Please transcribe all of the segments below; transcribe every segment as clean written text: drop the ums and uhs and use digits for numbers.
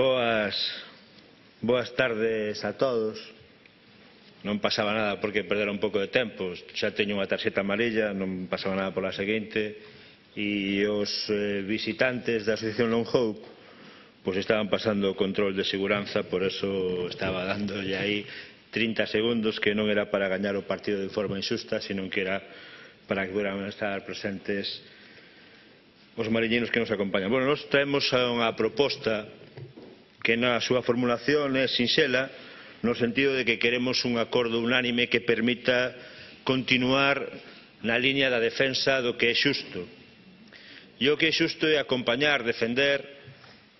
Boas tardes a todos. Non pasaba nada porque perdera un pouco de tempo. Xa teño unha tarxeta amarilla, non pasaba nada pola seguinte. E os visitantes da Asociación Long Hope pois estaban pasando o control de seguranza, por eso estaba dándolle aí 30 segundos, que non era para gañar o partido de forma injusta, sino que era para que puedan estar presentes os mariñeiros que nos acompañan. Bueno, nos traemos unha proposta que na súa formulación é sinxela, no sentido de que queremos un acordo unánime que permita continuar na liña da defensa do que é xusto. E o que é xusto é acompañar, defender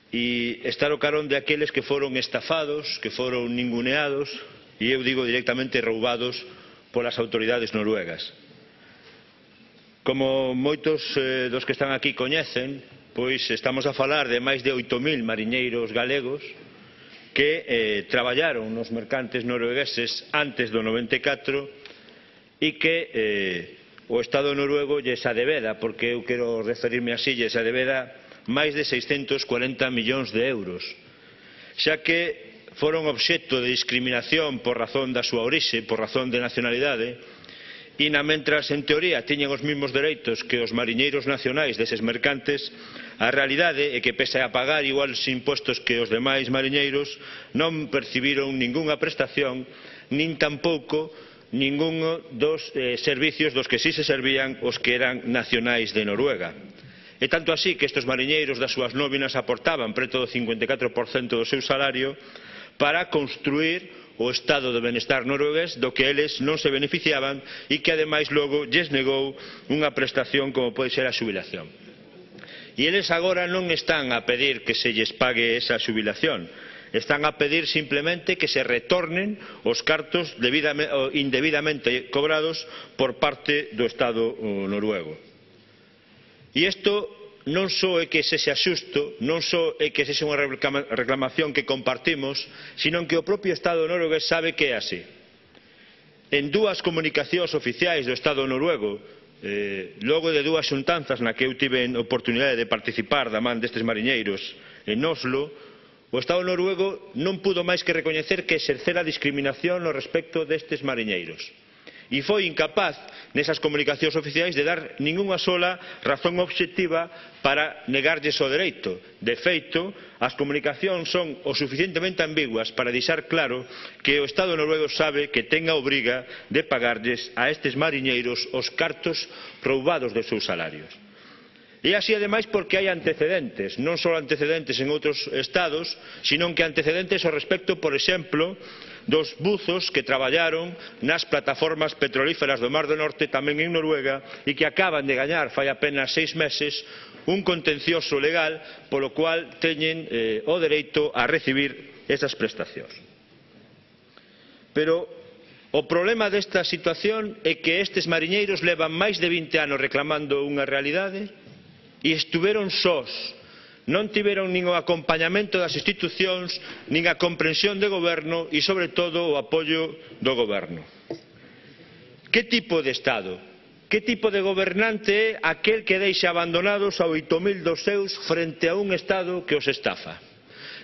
e estar ao carón de aqueles que foron estafados, que foron ninguneados e eu digo directamente roubados polas autoridades noruegas. Como moitos dos que están aquí coñecen, pois estamos a falar de máis de 8.000 mariñeiros galegos que traballaron nos mercantes noruegueses antes do 94 e que o Estado noruego lles adebeda, porque eu quero referirme así, lles adebeda máis de 640 millóns de euros, xa que foron obxecto de discriminación por razón da súa orixe, por razón de nacionalidade, e mentras en teoría tiñen os mesmos dereitos que os mariñeiros nacionais deses mercantes, a realidade é que pese a pagar iguais impostos que os demais mariñeiros non percibiron ningunha prestación, nin tampouco ningún dos servicios dos que si se servían os que eran nacionais de Noruega. E tanto así que estes mariñeiros das súas nóminas aportaban preto do 54% do seu salario para construir o estado de benestar noruegués do que eles non se beneficiaban e que ademais logo lles negou unha prestación como pode ser a xubilación. E eles agora non están a pedir que se lles pague esa xubilación, están a pedir simplemente que se retornen os cartos indebidamente cobrados por parte do Estado noruego. E isto non só é que sexa xusto, non só é que sexa unha reclamación que compartimos, sino que o propio Estado noruegués sabe que é así. En dúas comunicacións oficiais do Estado noruego, logo de dúas xuntanzas na que eu tive a oportunidade de participar da man destes mariñeiros en Oslo, o Estado noruego non pudo máis que recoñecer que exercera discriminación no respecto destes mariñeiros. E foi incapaz nesas comunicacións oficiais de dar ningunha sola razón obxectiva para negarlles o dereito. De feito, as comunicacións son o suficientemente ambiguas para deixar claro que o Estado noruego sabe que ten a obriga de pagarlles a estes mariñeiros os cartos roubados dos seus salarios. E así ademais porque hai antecedentes, non só antecedentes en outros estados, sino que antecedentes ao respecto, por exemplo, dos buzos que traballaron nas plataformas petrolíferas do Mar do Norte, tamén en Noruega, e que acaban de gañar fai apenas 6 meses un contencioso legal polo cual teñen o dereito a recibir esas prestacións. Pero o problema desta situación é que estes mariñeiros levan máis de 20 anos reclamando unha realidade e estuveron sós, non tiveron nin o acompañamento das institucións, nin a comprensión do goberno e, sobre todo, o apoio do goberno. Que tipo de Estado, que tipo de gobernante é aquel que deixa abandonados a 8.000 dos seus frente a un Estado que os estafa?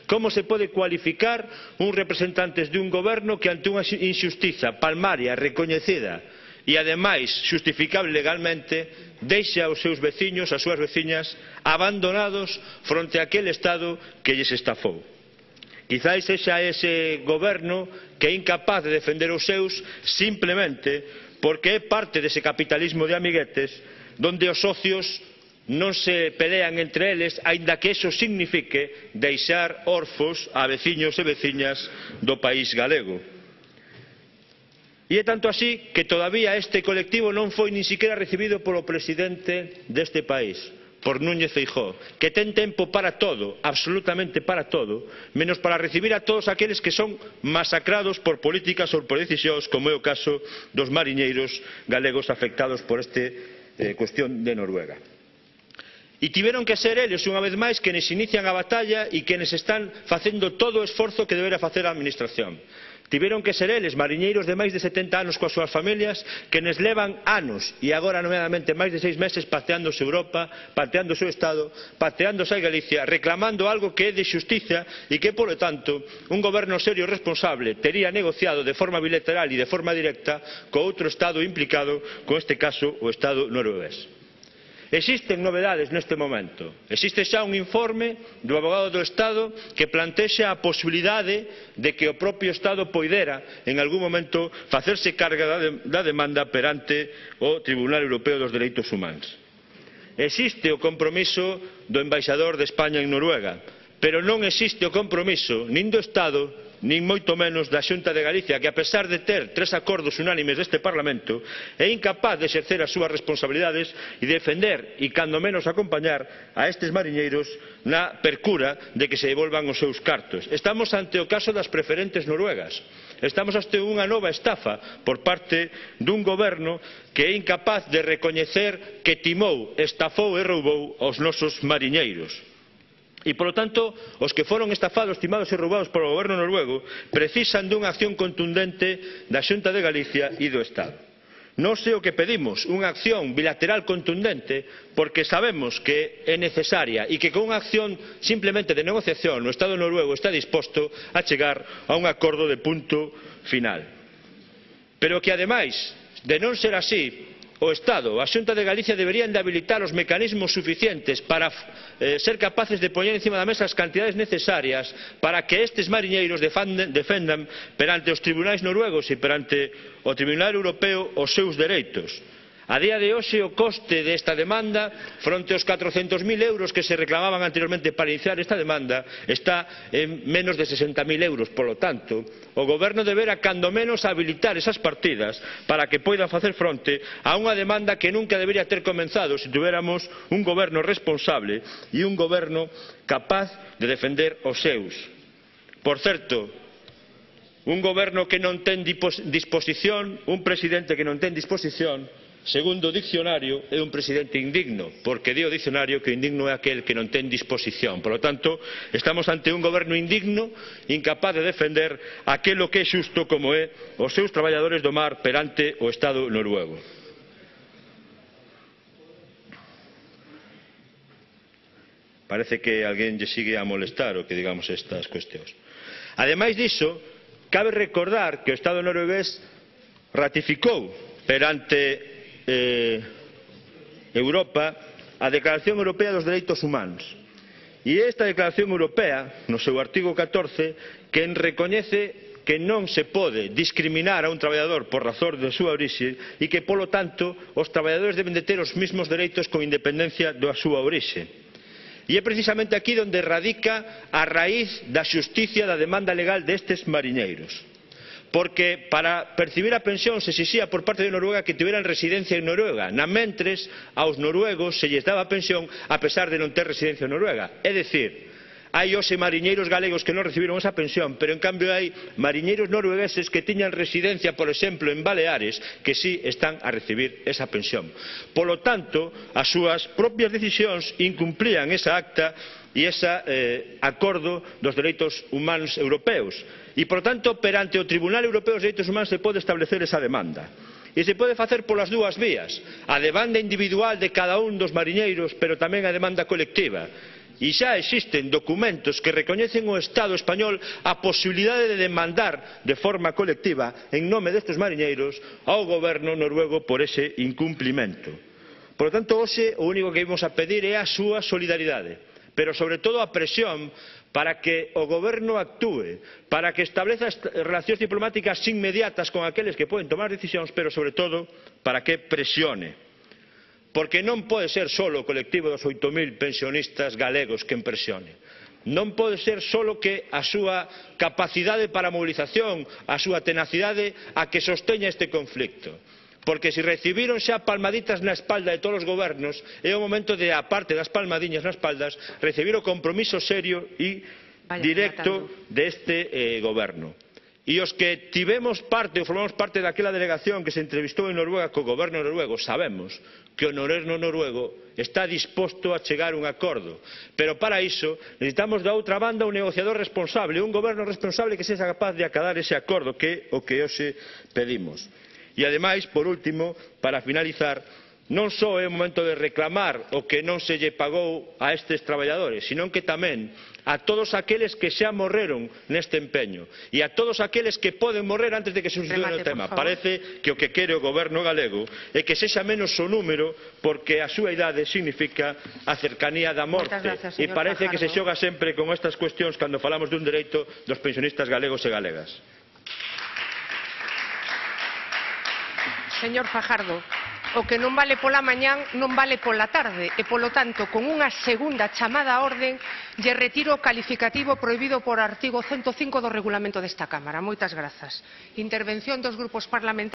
Como se pode cualificar un representantes de un goberno que ante unha injustiza palmaria, recoñecida e ademais xustificable legalmente, deixa os seus veciños, as súas veciñas, abandonados fronte a aquel Estado que lles estafou? Quizais sexa ese goberno que é incapaz de defender os seus simplemente porque é parte dese capitalismo de amiguetes donde os socios non se pelean entre eles, aínda que eso signifique deixar orfos a veciños e veciñas do país galego. E é tanto así que todavía este colectivo non foi nin siquiera recibido polo presidente deste país, por Núñez Feijóo, que ten tempo para todo, absolutamente para todo, menos para recibir a todos aqueles que son masacrados por políticas ou por decisións, como é o caso dos mariñeiros galegos afectados por esta cuestión de Noruega. E tiveron que ser eles, unha vez máis, quenes inician a batalla e quenes están facendo todo o esforzo que debera facer a Administración. Tiveron que ser eles, mariñeiros de máis de 70 anos coas súas familias, que nes levan anos e agora nomeadamente máis de 6 meses pateándose Europa, pateándose o Estado, pateándose a Galicia, reclamando algo que é de xustiza e que, polo tanto, un goberno serio e responsable tería negociado de forma bilateral e de forma directa co outro Estado implicado, con este caso o Estado noruegués. Existen novedades neste momento. Existe xa un informe do avogado do Estado que plantexa a posibilidade de que o propio Estado poidera en algún momento facerse carga da demanda perante o Tribunal Europeo dos Dereitos Humanos. Existe o compromiso do embaixador de España en Noruega, pero non existe o compromiso nin do Estado nin moito menos da Xunta de Galicia, que a pesar de ter 3 acordos unánimes deste Parlamento é incapaz de exercer as súas responsabilidades e defender e cando menos acompañar a estes mariñeiros na percura de que se devolvan os seus cartos. Estamos ante o caso das preferentes noruegas. Estamos ante unha nova estafa por parte dun goberno que é incapaz de recoñecer que timou, estafou e roubou aos nosos mariñeiros. E, polo tanto, os que foron estafados, timados e roubados polo goberno noruego precisan dunha acción contundente da Xunta de Galicia e do Estado. Nós é o que pedimos, unha acción bilateral contundente, porque sabemos que é necesaria e que con unha acción simplemente de negociación o Estado noruego está disposto a chegar a un acordo de punto final. Pero que, ademais de non ser así, o Estado, a Xunta de Galicia deberían de habilitar os mecanismos suficientes para ser capaces de poñer encima da mesa as cantidades necesarias para que estes mariñeiros defendan perante os tribunais noruegos e perante o Tribunal Europeo os seus dereitos. A día de hoxe o coste desta demanda fronte aos 400.000 euros que se reclamaban anteriormente para iniciar esta demanda está en menos de 60.000 euros. Polo tanto, o goberno debera cando menos habilitar esas partidas para que poidan facer fronte a unha demanda que nunca debería ter comenzado se tuviéramos un goberno responsable e un goberno capaz de defender os seus. Por certo, un goberno que non ten disposición, un presidente que non ten disposición, segundo o diccionario, é un presidente indigno, porque di o diccionario que indigno é aquel que non ten disposición. Por lo tanto, estamos ante un goberno indigno, incapaz de defender aquilo que é xusto como é os seus traballadores do mar perante o Estado noruego. Parece que alguén lle sigue a molestar o que digamos estas cuestións. Ademais diso, cabe recordar que o Estado noruegués ratificou perante Europa a Declaración Europea dos Dereitos Humanos. E esta Declaración Europea, no seu artigo 14, quen recoñece que non se pode discriminar a un traballador por razón de súa orixe e que, polo tanto, os traballadores deben de ter os mesmos dereitos con independencia da súa orixe. E é precisamente aquí onde radica a raíz da xusticia da demanda legal destes mariñeiros. Porque para percibir a pensión se exixía por parte de Noruega que tiveran residencia en Noruega, namentres aos noruegos se lles daba a pensión a pesar de non ter residencia en Noruega. É dicir, hai hoxe mariñeiros galegos que non recibiron esa pensión, pero en cambio hai mariñeiros noruegueses que tiñan residencia, por exemplo, en Baleares, que sí están a recibir esa pensión. Polo tanto, as súas propias decisións incumplían esa acta e ese acordo dos dereitos humanos europeos. E, por tanto, perante o Tribunal Europeo dos Dereitos Humanos se pode establecer esa demanda. E se pode facer polas dúas vías, a demanda individual de cada un dos mariñeiros, pero tamén a demanda colectiva. E xa existen documentos que recoñecen ao Estado español a posibilidade de demandar de forma colectiva en nome destes mariñeiros ao goberno noruego por ese incumplimento. Por lo tanto, hoxe o único que vimos a pedir é a súa solidaridade, pero sobre todo a presión para que o goberno actúe, para que estableza relacións diplomáticas inmediatas con aqueles que poden tomar decisións, pero sobre todo para que presione. Porque non pode ser só o colectivo dos 8.000 pensionistas galegos quen presione. Non pode ser só que a súa capacidade para a movilización, a súa tenacidade a que sosteña este conflicto. Porque se recibiron xa palmaditas na espalda de todos os gobernos, é o momento de, aparte das palmadiñas nas espaldas, recibir o compromiso serio e directo deste goberno. E os que tivemos parte ou formamos parte daquela delegación que se entrevistou en Noruega co goberno noruego sabemos que o goberno noruego está disposto a chegar a un acordo, pero para iso necesitamos da outra banda un negociador responsable, un goberno responsable que sexa capaz de acadar ese acordo, que é o que hoxe pedimos. E ademais, por último, para finalizar, non só é o momento de reclamar o que non se lle pagou a estes traballadores, sino que tamén a todos aqueles que xa morreron neste empeño e a todos aqueles que poden morrer antes de que se suceda o tema. Parece que o que quere o goberno galego é que sexa menos o número, porque a súa idade significa a cercanía da morte, e parece que se xoga sempre con estas cuestións cando falamos dun dereito dos pensionistas galegos e galegas. Señor Fajardo, o que non vale pola mañán non vale pola tarde e, polo tanto, con unha segunda chamada á orde lle retiro o calificativo prohibido por artigo 105 do regulamento desta Cámara. Moitas grazas. Intervención dos grupos parlamentarios.